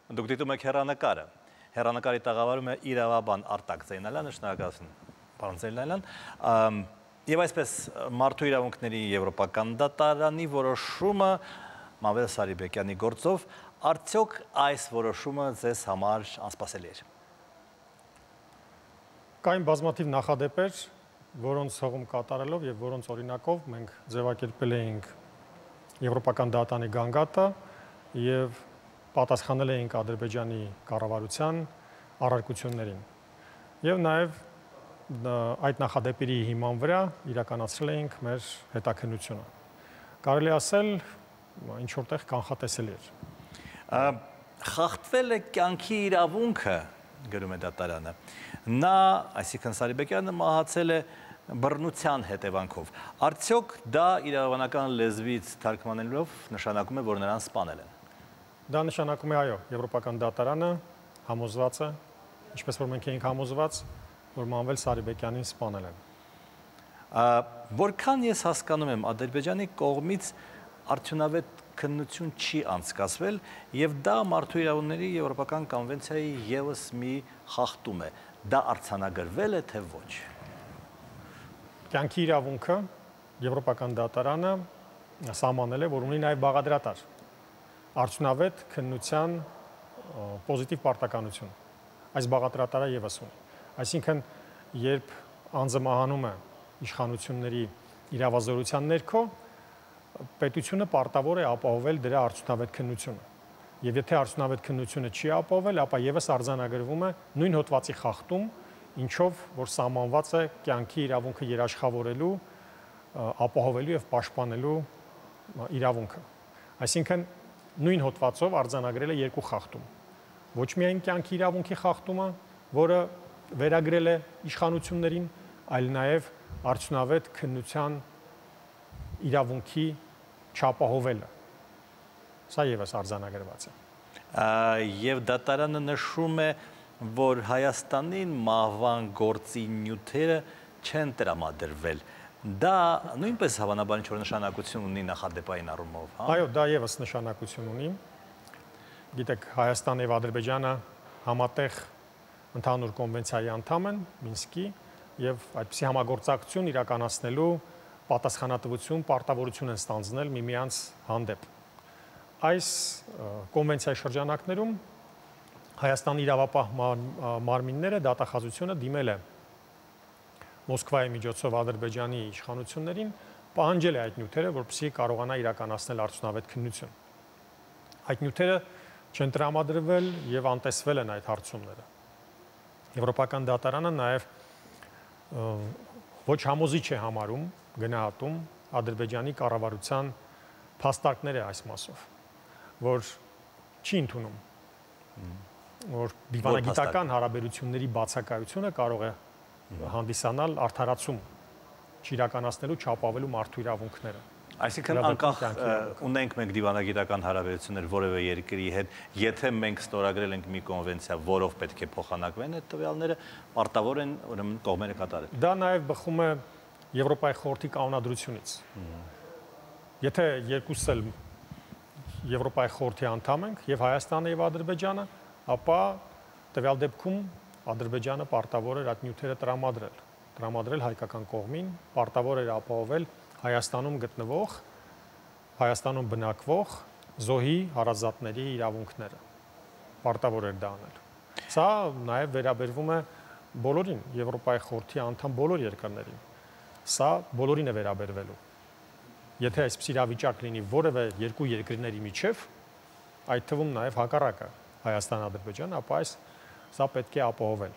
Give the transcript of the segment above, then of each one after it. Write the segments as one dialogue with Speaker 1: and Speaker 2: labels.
Speaker 1: Դուք դիտում եք հեռանկարը։ Հեռանկարի տաղավարում է իրավաբան Արտակ Զեյնալյանը, շնորհակալություն, պարոն Զեյնալյան։ Եվ այսպես մարդու իրավունքների եվրոպական դատարանի որոշումը Մանվել Սարիբեկյանի գործով, արդյոք այս որոշումը ձեզ համար անսպասելի էր։
Speaker 2: Կային բազմաթիվ նախադեպեր, որոնց հողում կատարելով եւ որոնց օրինակով մենք ձևակերպել էինք եվրոպական դատարանի գանգատը եւ պատասխանել էինք Ադրբեջանի կառավարության առարկություններին։ Եվ նաեւ այդ նախադեպերի հիման վրա իրականացրել էինք մեր հետաքննությունը։ Կարելի ասել, ինչ որտեղ կանխատեսելի էր։
Speaker 1: Խախտվել է կյանքի իրավունքը, գրում է դատարանը։ Նա, այսինքն Սարիբեկյանը, մահացել է բռնության հետևանքով։ Արդյոք դա իրավաբանական լեզվից թարգմանելով նշանակում է, որ նրան սպանել են։
Speaker 2: Դա նշանակում է, այո, եվրոպական դատարանը համոզված է, ինչպես որ մենք էինք համոզված, որ Մանվել Սարիբեկյանին սպանել են։
Speaker 1: Որքան ես հասկանում եմ, Ադրբեջանի կողմից արդյունավետ քննություն չի անցկացվել եւ դա մարդու իրավունքների եվրոպական կոնվենցիայի եւս մի խախտում է։ Դա արձանագրվել է թե ոչ։
Speaker 2: Կյանքի իրավունքը եվրոպական դատարանը սահմանել է, որ ունի նաեւ բաղադրատար արդյունավետ քննության պոզիտիվ պարտականություն։ Այս բաղադրատարը եւս ունի։ Այսինքն, երբ անձը մահանում է իշխանությունների իրավազորության ներքո, պետությունը պարտավոր է ապահովել դրա արդյունավետ քննությունը։ Եվ եթե արդյունավետ քննությունը չի ապահովել, ապա եւս արձանագրվում է նույն հոդվածի խախտում, ինչով որ սահմանված է կյանքի իրավունքը երաշխավորելու, ապահովելու եւ պաշտպանելու իրավունքը։ Այսինքն նույն հոդվածով արձանագրել է երկու խախտում։ Ոչ միայն կյանքի իրավունքի խախտումը, որը վերագրել է իշխանություններին, այլ նաեւ արդյունավետ քննության իրավունքի չապահովելը։ Սա եւս արձանագրված է։
Speaker 1: Եվ դատարանը նշում է, որ Հայաստանին մահվան գործի նյութերը չեն տրամադրվել։ Դա նույնպես հավանաբար ինչ-որ նշանակություն ունի նախադեպային առումով, հա։
Speaker 2: Այո, դա եւս նշանակություն ունի։ Գիտեք, Հայաստանն եւ Ադրբեջանը համատեղ ընդհանուր կոնվենցիայի անդամ են, Մինսկի, եւ այդպիսի համագործակցություն իրականացնելու պատասխանատվություն, պարտավորություն են ստանձնել միմյանց հանդեպ։ Այս կոնվենցիայի շրջանակներում Հայաստանի իրավապահ մարմինները դատախազությունը դիմել է Մոսկվայի միջոցով Ադրբեջանի իշխանություններին, պահանջել է այդ նյութերը, որպեսզի կարողանա իրականացնել արդյունավետ քննություն։ Այդ նյութերը չեն տրամադրվել եւ անտեսվել են այդ հարցումները։ Եվրոպական դատարանը նաեւ ոչ համոզիչ է համարում, գնահատում Ադրբեջանի կառավարության փաստարկները այս մասով, որ չի ընդունում, որ դիվանագիտական հարաբերությունների բացակայությունը կարող է հանդիսանալ արդարացում չիրականացնելու, չապահովելու մարդու իրավունքները։
Speaker 1: Այսինքն անկախ ունենք մենք դիվանագիտական հարաբերություններ որևէ երկրի հետ, եթե մենք ստորագրել ենք մի կոնվենցիա, որով պետք է փոխանակվեն այդ տվյալները, պարտավոր են ուրեմն կողմերը կատարել։
Speaker 2: Դա նաև բխում է Եվրոպայի խորհրդի կանոնադրությունից։ Եթե երկուսս էլ Եվրոպայի խորհրդի անդամ ենք, եւ Հայաստանը եւ Ադրբեջանը, ապա տվյալ դեպքում Ադրբեջանը պարտավոր էր այդ նյութերը տրամադրել հայկական կողմին, պարտավոր էր ապահովել Հայաստանում գտնվող, Հայաստանում բնակվող զոհի հարազատների իրավունքները։ Պարտավոր էր դա անել։ Սա նաև վերաբերվում է բոլորին, Եվրոպայի խորհրդի անդամ բոլոր երկրներին։ Սա բոլորին է վերաբերվելու։ Եթե այսպես իրավիճակ լինի որևէ երկու երկրների միջև, այդ թվում նաև հակառակը Հայաստան-Ադրբեջան, ապա սա պետք է ապահովել։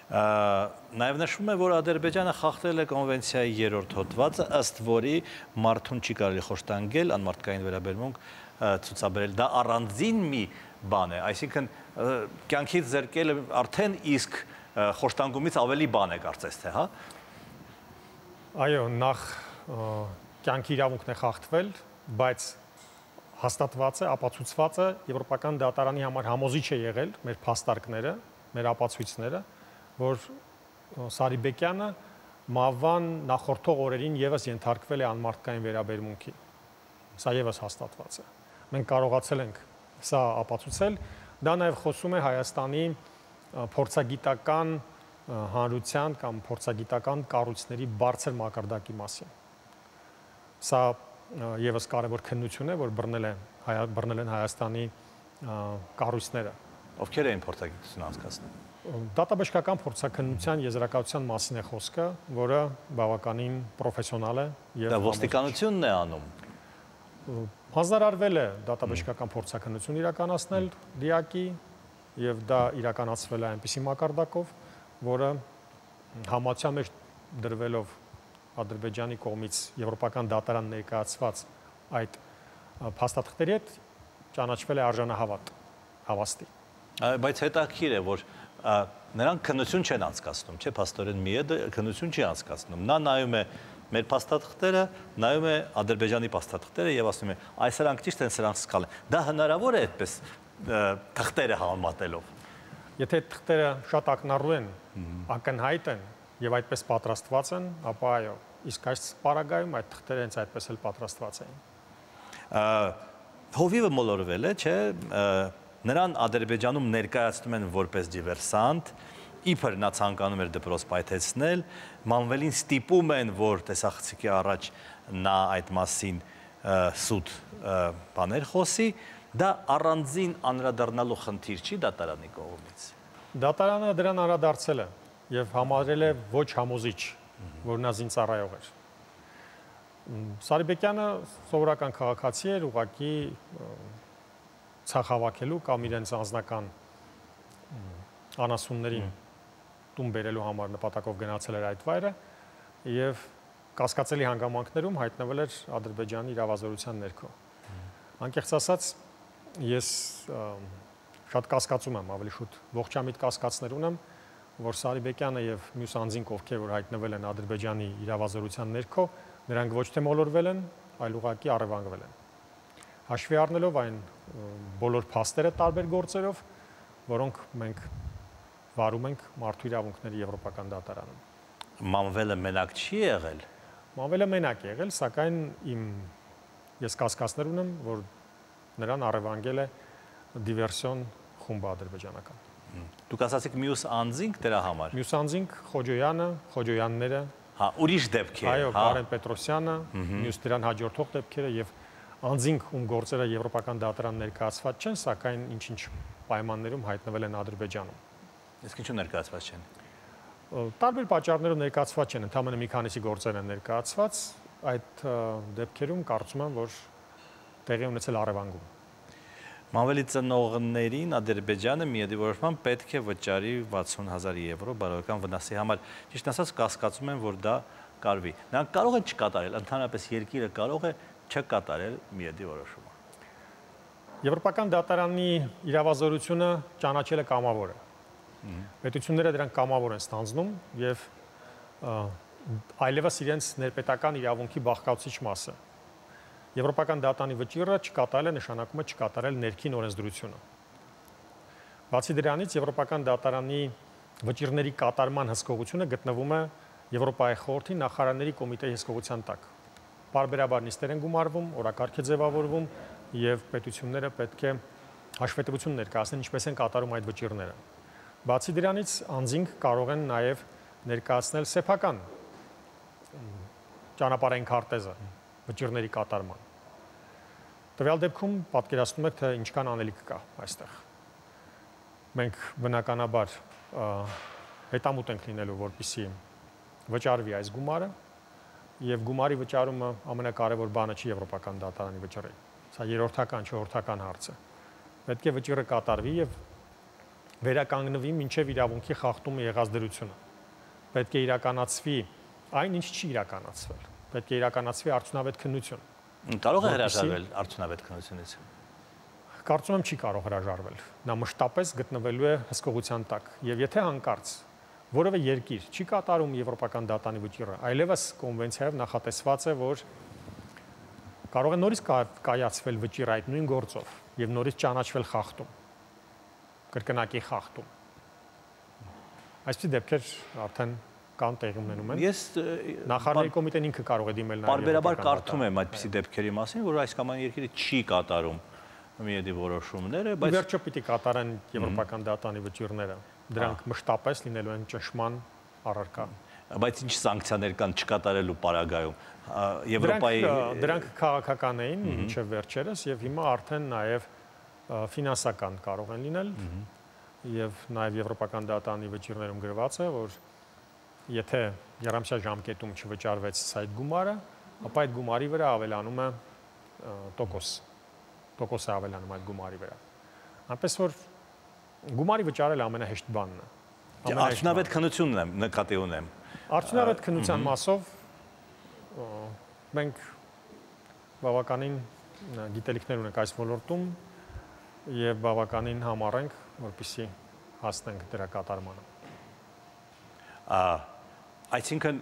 Speaker 1: Նաև նշվում է, որ Ադրբեջանը խախտել է կոնվենցիայի 3-րդ հոդվածը, ըստ որի մարդուն չի կարելի խոշտանգել, անմարդկային վերաբերմունք ցուցաբերել։ Դա առանձին մի բան է, այսինքն կյանքից զրկելը արդեն իսկ խոշտանգումից ավելի բան է կարծես թե, հա։
Speaker 2: Այո, նախ կյանքի իրավունքն է խախտվել, բայց հաստատված է, ապացուցված է Եվրոպական դատարանի համար համոզիչ է եղել մեր փաստարկները, մեր ապացույցները, որ Սարիբեկյանը մահվան նախորդող օրերին եւս ենթարկվել է անմարդկային վերաբերմունքի։ Սա եւս հաստատված է։ Մենք կարողացել ենք սա ապացուցել, դա նաև խոսում է Հայաստանի փորձագիտական հանրության կամ փորձագիտական կառույցների բարձր մակարդակի մասին։ Սա եւս կարևոր քննություն է, որ բռնել են Հայաստանի կառույցները։
Speaker 1: Ովքեր էին փորձագիտություն անցկացնում։
Speaker 2: Դատաբժշկական փորձաքննության եզրակացության մասին է խոսքը, որը բավականին պրոֆեսիոնալ է եւ
Speaker 1: դա ոստիկանությունն է անում։
Speaker 2: Հանձնարարվել է դատաբժշկական փորձաքննություն իրականացնել դիակի եւ դա իրականացվել է այնպիսի մակարդակով, որը համացան մեջ դրվելով Ադրբեջանի կողմից եվրոպական դատարան ներկայացված այդ փաստաթղթերի հետ ճանաչվել է արժանահավատ հավաստի։
Speaker 1: Բայց հետաքրքիր է, որ նրանք քննություն չեն անցկացնում, չէ՞, փաստորեն Միեդը քննություն չի անցկացնում։ Նա նայում է մեր փաստաթղթերը, նայում է Ադրբեջանի փաստաթղթերը եւ ասում է, այս սրանք ճիշտ են, սրանք սխալ են։ Դա հնարավոր է այդպես թղթերը համեմատելով։
Speaker 2: Եթե թղթերը շատ ակնառու են, ակնհայտ են եւ այդպես պատրաստված են, ապա այո, իսկ այս պարագայում այդ թղթերը հենց այդպես էլ պատրաստված էին։
Speaker 1: Հովիվը մոլորվել է, չէ՞, նրան Ադրբեջանում ներկայացնում են որպես դիվերսանտ, իբր նա ցանկանում էր դպրոց պայթեցնել, Մանվելին ստիպում են, որ տեսախցիկի առաջ նա այդ մասին սուտ բաներ խոսի, դա առանձին անդրադառնալու խնդիր չի դատարանի կողմից։
Speaker 2: Դատարանը դրան անդրադարձել է եւ համարել է ոչ համոզիչ, որ նա զինծառայող էր։ Սարիբեկյանը սովորական քաղաքացի էր, ուղղակի ցախավաքելու կամ իրենց անձնական անասուններին տուն բերելու համար նպատակով գնացել էր այդ վայրը եւ կասկածելի հանգամանքներում հայտնվել էր Ադրբեջանի իրավազորության ներքո։ Անկեղծ ասած, ես շատ կասկածում եմ, ավելի շուտ ողջամիտ կասկածներ ունեմ, որ Սարիբեկյանը եւ մյուս անձինք, ովքեր որ հայտնվել են Ադրբեջանի իրավազորության ներքո, նրանք ոչ թե մոլորվել են, այլ ուղղակի առևանգվել են։ Հաշվի առնելով այն բոլոր փաստերը տարբեր գործերով, որոնք մենք վարում ենք մարդու իրավունքների եվրոպական դատարանում։
Speaker 1: Մանվելը մենակ չի եղել։
Speaker 2: Մանվելը մենակ է եղել, սակայն ես կասկածներ ունեմ, որ նրան առևանգել է դիվերսիոն խումբը ադրբեջանական։
Speaker 1: Դուք ասացիք մյուս անձինք դրա համար։
Speaker 2: Մյուս անձինք Խոջոյանը, Խոջոյանները,
Speaker 1: հա, ուրիշ դեպքեր,
Speaker 2: այո, Կարեն Պետրոսյանը, մյուս դրան հաջորդող դեպքերը եւ անձինք, ում գործերը եվրոպական դատարան ներկայացված չեն, սակայն ինչ-ինչ պայմաններում հայտնվել են Ադրբեջանում։
Speaker 1: Իսկ ինչու ներկայացված չեն։
Speaker 2: Տարբեր պատճառներով ներկայացված չեն, ընդհանրապես մի քանիսի գործեր են ներկայացված, այդ դեպքերում կարծում եմ, որ տեղի ունեցել առևանգում։
Speaker 1: Մանվելի ծնողներին Ադրբեջանը միեդի որոշմամբ պետք է վճարի 60,000 եվրո բարոյական վնասի համար։ Ճիշտ ասած, կասկածում եմ, որ դա կարվի։ Նրանք կարող են չկատարել, ընդհանրապես երկիրը կարող է չկատարել միեդի որոշումը։
Speaker 2: Եվրոպական դատարանի իրավազորությունը ճանաչել է կամավոր է։ Պետությունները դրանք կամավոր են ստանձնում եւ այլևս իրենց ներպետական իրավունքի բաղկացուցիչ մասը։ Եվրոպական դատարանի վճիռը չկատարելը նշանակում է չկատարել ներքին օրենսդրությունը։ Բացի դրանից, Եվրոպական դատարանի վճիռների կատարման հսկողությունը գտնվում է Եվրոպայի խորհրդի նախարարների կոմիտեի հսկողության տակ։ Պարբերաբար նիստեր են գումարվում, օրակարգ է ձևավորվում եւ պետությունները պետք է հաշվետվություն ներկայացնեն, ինչպես են կատարում այդ վճիռները։ Բացի դրանից, անձինք կարող են նաեւ ներկայացնել սեփական ճանապարհային քարտեզը վճիռների կատարման։ Տվյալ դեպքում պատկերացնում եք, թե ինչքան անելիք կա այստեղ։ Մենք բնականաբար հետամուտ ենք լինելու, որպեսզի վճարվի այս գումարը, եւ գումարի վճարումը ամենակարևոր բանը չի եվրոպական դատարանի վճռի։ Սա երրորդական, չորրորդական հարց է։ Պետք է վճիռը կատարվի եւ վերականգնվի մինչեւ իրավունքի խախտումը եղած դրությունը։ Պետք է իրականացվի այն, ինչ չի իրականացվել։ Պետք է իրականացվի արդյունավետ քննություն։
Speaker 1: Կարող է հրաժարվել արդյունավետ քննությունից։
Speaker 2: Կարծում եմ չի կարող հրաժարվել։ Նա մշտապես գտնվելու է հսկողության տակ։ Եվ եթե հանկարծ որևէ երկիր չի կատարում եվրոպական դատարանի վճիռը, այլևս կոնվենցիայով նախատեսված է, որ կարող է նորից կայացվել վճիռ այդ նույն գործով եւ նորից ճանաչվել խախտում, կրկնակի խախտում։ Այսպիսի դեպքեր արդեն կան տեղի ունենում են։
Speaker 1: Ես
Speaker 2: նախարարների կոմիտեն ինքը կարող է դիմել նաև։
Speaker 1: Պարբերաբար կարդում եմ այդպիսի դեպքերի մասին, որ այս կամ այն երկիրը չի կատարում միեդի որոշումները,
Speaker 2: բայց վերջը պիտի կատարեն եվրոպական դատանի վճիռները։ Դրանք մշտապես լինելու են ճնշման առարկա։
Speaker 1: Բայց ինչ սանկցիաներ կան չկատարելու պարագայում։ Եվրոպայի
Speaker 2: դրանք քաղաքական էին մինչև վերջերս եւ հիմա արդեն նաեւ ֆինանսական կարող են լինել եւ նաեւ եվրոպական դատանի վճիռներում գրված է, որ եթե երամսյա ժամկետում չվճարվեց այդ գումարը, ապա այդ գումարի վրա ավելանում է տոկոս է ավելանում այդ գումարի վրա։ Այնպես որ գումարի վճարելը ամենահեշտ բանն է։
Speaker 1: Արդյունավետ քննությունն եմ նկատի ունեմ։
Speaker 2: Արդյունավետ քննության մասով մենք բավականին գիտելիքներ ունենք այս ոլորտում եւ բավականին համառ ենք, որպեսզի հասնենք դրա կատարմանը։
Speaker 1: Այսինքն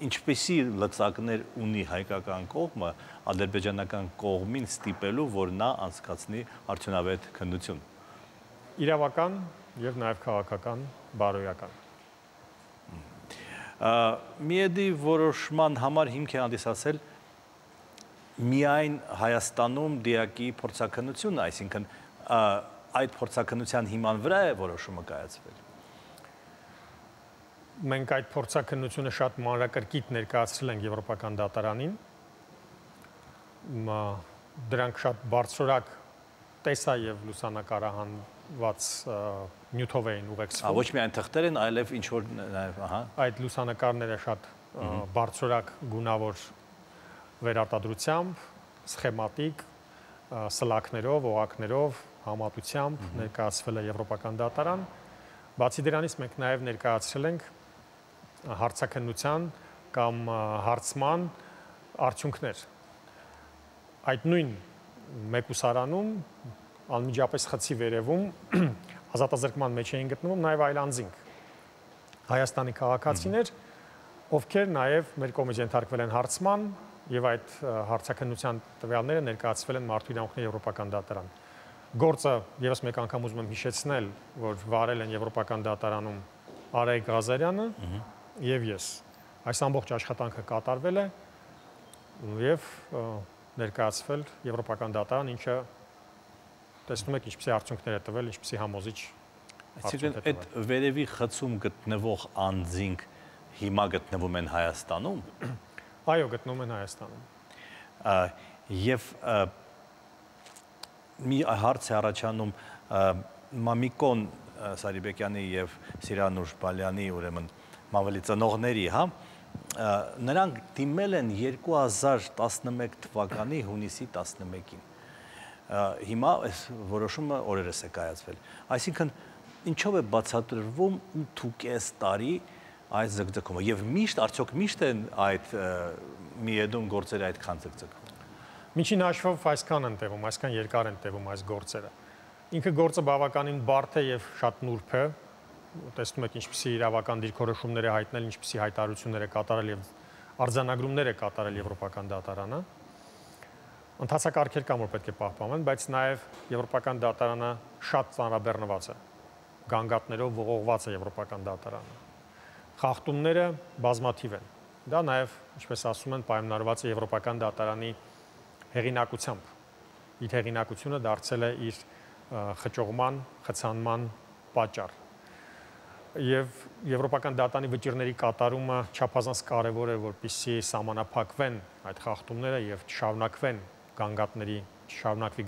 Speaker 1: ինչպեսի լծակներ ունի հայկական կողմը ադրբեջանական կողմին ստիպելու, որ նա անցկացնի արդյունավետ քննություն։
Speaker 2: Իրավական եւ նաեւ քաղաքական, բարոյական։
Speaker 1: Միեդի որոշման համար հիմք է հանդիսացել միայն Հայաստանում դիակի փորձաքննությունը, այսինքն այդ փորձաքննության հիման վրա է որոշումը կայացվել։
Speaker 2: Մենք այդ փորձաքննությունը շատ մանրակրկիտ ներկայացրել ենք եվրոպական դատարանին։ Դրանք շատ բարձրորակ տեսա եւ լուսանկարահանված նյութով էին ուղեկցվում։
Speaker 1: Ոչ միայն թղթեր են, այլև ինչ որ
Speaker 2: այդ լուսանկարները շատ բարձրորակ գունավոր վերարտադրությամբ, սխեմատիկ, սլաքներով, օղակներով, համատությամբ ներկայացվել է եվրոպական դատարան։ Բացի դրանից մենք նաև ներկայացրել ենք հարցաքննության կամ հարցման արդյունքներ։ Այդ նույն մեկուսարանում անմիջապես խցի վերևում ազատազրկման մեջ էին գտնվում նաև այլ անձինք Հայաստանի քաղաքացիներ, ովքեր նաև մեր կողմից ենթարկվել են հարցման եւ այդ հարցաքննության տվյալները ներկայացվել են Մարդու իրավունքների եվրոպական դատարան։ Գործը եւս մեկ անգամ ուզում եմ հիշեցնել, որ վարել են եվրոպական դատարանում Արայիկ Ղազարյանը եւ ես։ Այս ամբողջ աշխատանքը կատարվել է եւ ներկայացվել եվրոպական դատարան, ինչը տեսնում եք ինչպիսի արդյունքներ է տվել, ինչպիսի համոզիչ
Speaker 1: Այսինքն այդ վերևի խցում գտնվող անձինք հիմա գտնվում են Հայաստանում։
Speaker 2: Այո, գտնվում են Հայաստանում։
Speaker 1: Եվ մի հարց է առաջանում Մամիկոն Սարիբեկյանի եւ Սիրանուշ Բալյանի ուրեմն մավելի ծնողների, հա, նրանք դիմել են 2011 թվականի հունիսի 11-ին։ Հիմա այս որոշումը օրերս է կայացվել։ Այսինքն ինչով է բացատրվում 8.5 տարի այդ ձգձգումը եւ արդյոք միշտ են այդ միեդում գործերը այդքան ձգձգվում։
Speaker 2: Միջին հաշվով այսքան են տևում, այսքան երկար են տևում այս գործերը։ Ինքը գործը բավականին բարդ է եւ շատ նուրբ է։ Տեսնում եք ինչպիսի իրավական դիրքորոշումներ է հայտնել, ինչպիսի հայտարարություններ է կատարել եւ արձանագրումներ է կատարել եվրոպական դատարանը։ Ընթացակարգեր կան, որ պետք է պահպանվեն, բայց նաեւ եվրոպական դատարանը շատ ծանրաբեռնված է։ Գանգատներով ողողված է եվրոպական դատարանը։ Խախտումները բազմաթիվ են։ Դա նաև, ինչպես ասում են, պայմանավորված է եվրոպական դատարանի հեղինակությամբ։ Իր հեղինակությունը դարձել է իր խճողման, խցանման պատճառ։ Եվ եվրոպական դատարանի վճիռների կատարումը չափազանց կարևոր է, որպեսզի սահմանափակվեն այդ խախտումները եւ չշարունակվի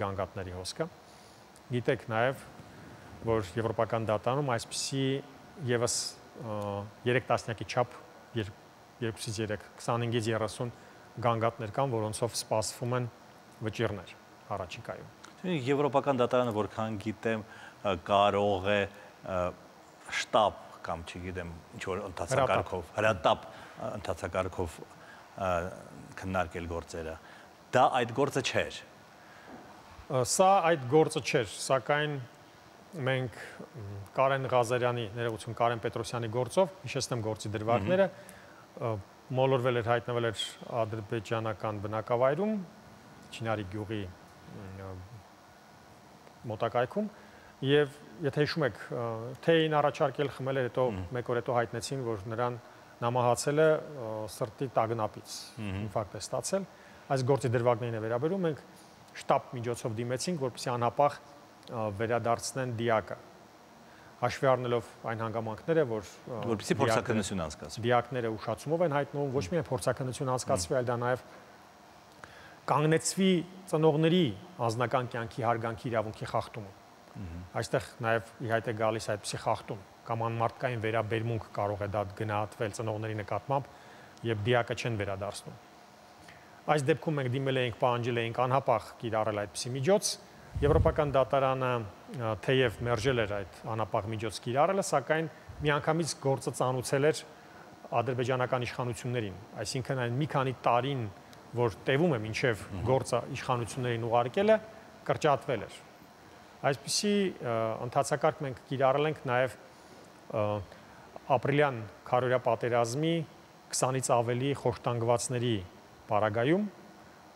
Speaker 2: գանգատների հոսքը։ Գիտեք նաև, որ եվրոպական դատարանում այսպիսի եւս 3 տասնյակի չափ 2-ից 3, 25-ից 30 գանգատներ կան, որոնցով սպասվում են վճիռներ առաջիկայում։
Speaker 1: Եվրոպական դատարանը, որքան գիտեմ, կարող է շտաբ կամ չգիտեմ, ինչ որ ընթացակարգով, հրատապ ընթացակարգով քննարկել գործերը։ Դա այդ գործը չէր։
Speaker 2: Սա այդ գործը չէր, սակայն մենք Կարեն Ղազարյանի, ներողություն, Կարեն Պետրոսյանի գործով, հիշեցնեմ գործի դրվագները, մոլորվել էր, հայտնվել էր ադրբեջանական բնակավայրում, Չինարի գյուղի մոտակայքում, եւ եթե հիշում եք, թեյին առաջարկել խմել էր, հետո մեկ օր հետո հայտնեցին, որ նրան նամահացել է սրտի տագնապից, ինֆարկտ է ստացել։ Այս գործի դրվագներին է վերաբերում, մենք շտաբ միջոցով դիմեցինք, որպեսզի անհապաղ վերադարձնեն դիակը։ Հաշվի առնելով այն հանգամանքները,
Speaker 1: որպեսզի փորձաքննություն անցկացվի։
Speaker 2: Դիակները ուշացումով են հայտնվում, ոչ միայն փորձաքննություն անցկացվի, այլ դա նաև կանգնեցվի ծնողների անձնական կյանքի հարգանքի իրավունքի խախտումը։ Այստեղ նաև ի հայտ է գալիս այդպիսի խախտում կամ անմարդկային վերաբերմունք կարող է դա գնահատվել ծնողների նկատմամբ եւ դիակը չեն վերադարձնում։ Այս դեպքում մենք դիմել էինք, պահանջել էինք անհապաղ կիրառել այդպիսի միջոց։ Եվրոպական դատարանը թեև մերժել էր այդ անհապաղ միջոց կիրառելը, սակայն միանգամից գործը ծանուցել էր ադրբեջանական իշխանություններին, այսինքն այն մի քանի տարին, որ տևում է մինչև գործը իշխանություններին ուղարկելը, կրճատվել էր։ Այսպիսի ընթացակարգ մենք կիրառել ենք նաև ապրիլյան քարոզիա պատերազմի 20-ից ավելի խոշտանգվածների պարագայում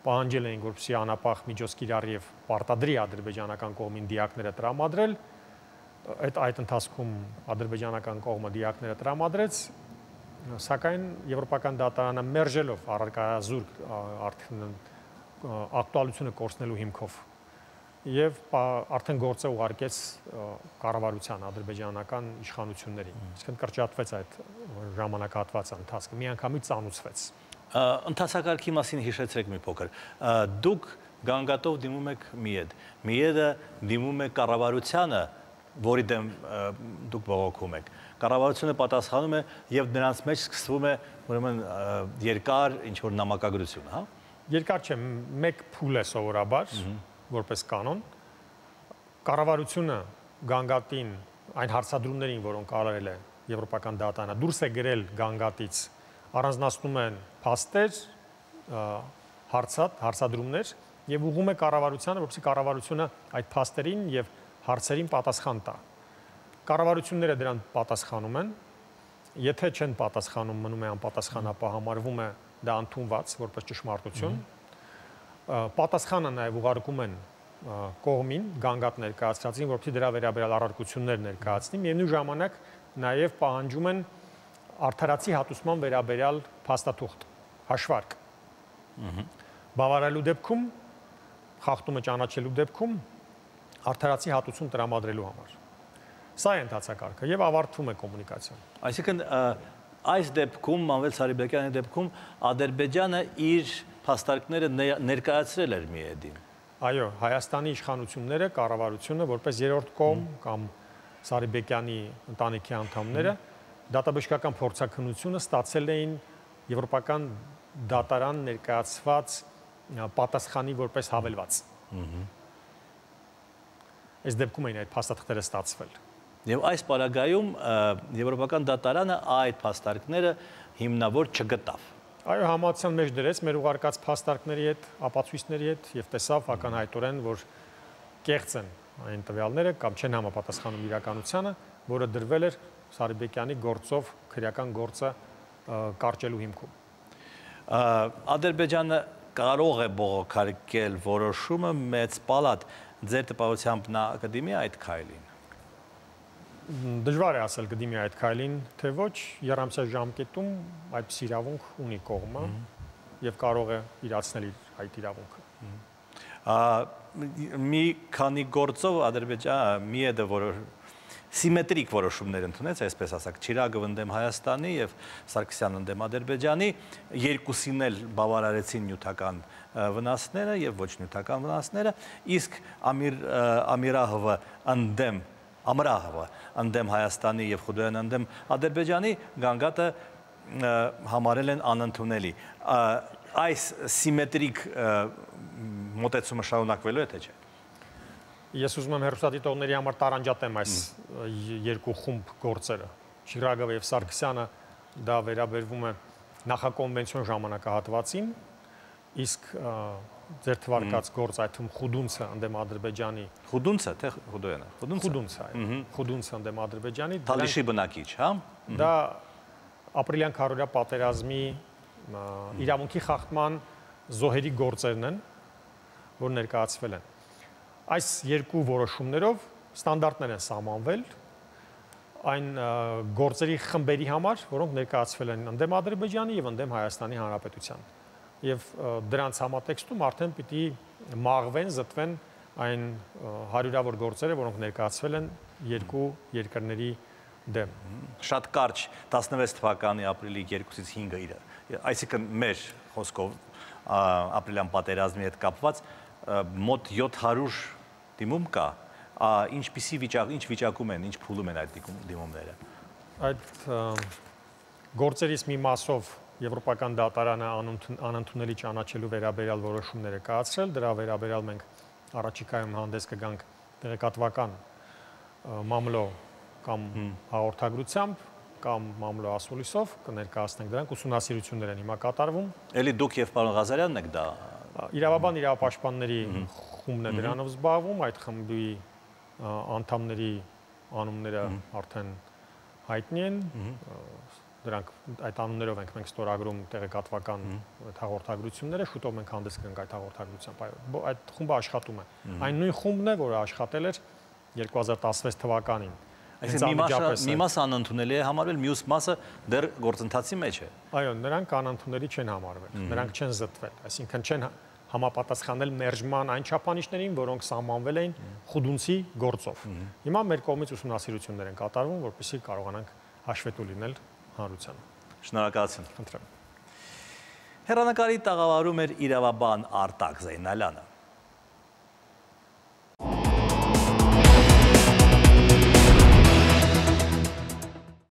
Speaker 2: պահանջել էինք, որպեսզի անապահ միջոց կիրառի եւ պարտադրի ադրբեջանական կողմին դիակները տրամադրել։ Այդ ընթացքում ադրբեջանական կողմը դիակները տրամադրեց, սակայն եվրոպական դատարանը մերժելով առարկայազուրկ ակտուալությունը կորցնելու հիմքով եւ արդեն գործը ուղարկեց կառավարության ադրբեջանական իշխանություններին։ Իսկն կրճատվեց այդ ժամանակահատվածը ընթացքը, միանգամից ծանուցվեց։
Speaker 1: Ընթացակարգի մասին հիշեցրեք մի փոքր։ Դուք գանգատով դիմում եք Միեդը դիմում է կառավարությանը, որի դեմ դուք բողոքում եք։ Կառավարությունը պատասխանում է եւ նրանց մեջ սկսվում է ուրեմն երկար ինչ որ նամակագրություն, հա։
Speaker 2: Երկար չէ, մեկ փուլ է սովորաբար, որպես կանոն, կառավարությունը գանգատին այն հարցադրումներին, որոնք արել է եվրոպական դատարանը, դուրս է գրել գանգատից, առանձնացնում են փաստեր, հարցադրումներ եւ ուղղում է կառավարությանը, որպեսզի կառավարությունը այդ փաստերին եւ հարցերին պատասխան տա։ Կառավարությունները դրան պատասխանում են, եթե չեն պատասխանում, մնում է անպատասխան, ապա համարվում է դա ընդունված որպես ճշմարտություն։ Պատասխանը նաև ուղարկում են կողմին, գանգատ ներկայացրածին, որպեսզի դրա վերաբերյալ առարկություններ ներկայացնի, միևնույն ժամանակ նաև պահանջում են արդարացի հատուցման վերաբերյալ փաստաթուղթ, հաշվարկ։ Բավարարելու դեպքում, խախտումը ճանաչելու դեպքում արդարացի հատուցում տրամադրելու համար։ Սա է ընթացակարգը եւ ավարտվում է կոմունիկացիան։
Speaker 1: Այսինքն այս դեպքում, Մանվել Սարիբեկյանի դեպքում Ադրբեջանը իր փաստարկները ներկայացրել էր Միեդին։
Speaker 2: Այո, Հայաստանի իշխանությունները, կառավարությունը որպես երրորդ կողմ կամ Սարիբեկյանի ընտանիքի անդամները դատաբժշկական փորձաքննությունը ստացել էին եվրոպական դատարան ներկայացված պատասխանի որպես հավելված։ Այս դեպքում էին այդ փաստաթղթերը ստացվել։
Speaker 1: Եվ այս պարագայում եվրոպական դատարանը այդ փաստարկները հիմնավոր չգտավ։
Speaker 2: Այո, համացան մեջ դրեց մեր ուղարկած փաստարկների հետ, ապացույցների հետ եւ տեսավ ակնհայտորեն, որ կեղծ են այն տվյալները կամ չեն համապատասխանում իրականությանը, որը դրվել էր Սարիբեկյանի գործով քրեական գործը կարճելու հիմքում։
Speaker 1: Ադրբեջանը կարող է բողոքարկել որոշումը մեծ պալատ, ձեր տպավորությամբ նա կդիմի այդ քայլին։
Speaker 2: Դժվար է ասել կդիմի այդ քայլին, թե ոչ, երամսյա ժամկետում այդպես իրավունք ունի կողմը եւ կարող է իրացնել այդ իրավունքը։
Speaker 1: Մի քանի գործով Ադրբեջանը Միեդը սիմետրիկ որոշումներ ընդունեց, այսպես ասած, Չիրագով ընդդեմ Հայաստանի եւ Սարգսյանը ընդդեմ Ադրբեջանի, երկուսին էլ բավարարեցին նյութական վնասները եւ ոչ նյութական վնասները, իսկ Ամիրահովը ընդդեմ Հայաստանի եւ Խուդոյանը ընդդեմ Ադրբեջանի գանգատը համարել են անընդունելի։ Այս սիմետրիկ մոտեցումը շարունակվելու է թե չէ։
Speaker 2: Ես ուզում եմ հեռուստադիտողների համար տարանջատեմ այս երկու խումբ գործերը։ Չիրագովը եւ Սարգսյանը դա վերաբերվում է նախակոնվենցիոն ժամանակահատվածին, իսկ ձեր թվարկած գործ այդ թվում Խուդունցը ընդդեմ Ադրբեջանի։
Speaker 1: Խուդունցը թե Խուդոյանը։
Speaker 2: Խուդունցը, այո։ Խուդունցը ընդդեմ Ադրբեջանի։
Speaker 1: Թալիշի բնակիչ, հա։
Speaker 2: Դա ապրիլյան քարոզիա պատերազմի իրավունքի խախտման զոհերի գործերն են, որ ներկայացվել են։ Այս երկու որոշումներով ստանդարտներ են սահմանվել այն գործերի խմբերի համար, որոնք ներկայացվել են ընդդեմ Ադրբեջանի եւ ընդդեմ Հայաստանի Հանրապետության։ եւ դրանց համատեքստում արդեն պիտի մաղվեն, զտվեն այն հարյուրավոր գործերը, որոնք ներկայացվել են երկու երկրների դեմ։
Speaker 1: Շատ կարճ 16 թվականի ապրիլի 2-ից 5-ը, այսինքն մեր խոսքով ապրիլյան պատերազմի հետ կապված մոտ 700 դիմում կա, ինչ վիճակում են, ինչ փուլում են այդ դիմումները։
Speaker 2: Այդ գործերից մի մասով Եվրոպական դատարանը անընդունելի ճանաչելու վերաբերյալ որոշումներ է կայացրել, դրա վերաբերյալ մենք առաջիկայում հանդես կգանք տեղեկատվական մամլո կամ հաղորդագրությամբ կամ մամլո ասուլիսով կներկայացնենք դրանք, ուսումնասիրություններ են հիմա կատարվում։
Speaker 1: Էլի դուք եւ պարոն Ղազարյանն եք դա։
Speaker 2: Իրավաբան իրավապաշտպանների խումբն է դրանով զբաղվում, այդ խմբի անդամների անունները արդեն հայտնի են, դրանք այդ անուններով ենք մենք ստորագրում տեղեկատվական հաղորդագրությունները, շուտով մենք հանդես կգանք այդ հաղորդագրությամբ, այդ խումբը աշխատում է։ Այն նույն խումբն է, որը աշխատել էր 2016 թվականին։
Speaker 1: Այսինքն մի մասը անընդունելի է համարվել, մյուս մասը դեռ գործընթացի մեջ է։
Speaker 2: Այո, նրանք անընդունելի չեն համարվել, նրանք չեն զտվել, այսինքն չեն համապատասխանել մերժման այն չափանիշներին, որոնք սահմանվել էին խուդունցի գործով։ Հիմա մեր կողմից ուսումնասիրություններ են կատարվում, որպեսզի կարողանանք հաշվետու լինել հանրությանը։
Speaker 1: Շնորհակալություն։
Speaker 2: Խնդրեմ։
Speaker 1: Հեռանկարի տաղավարում էր իրավաբան Արտակ Զեյնալյանը։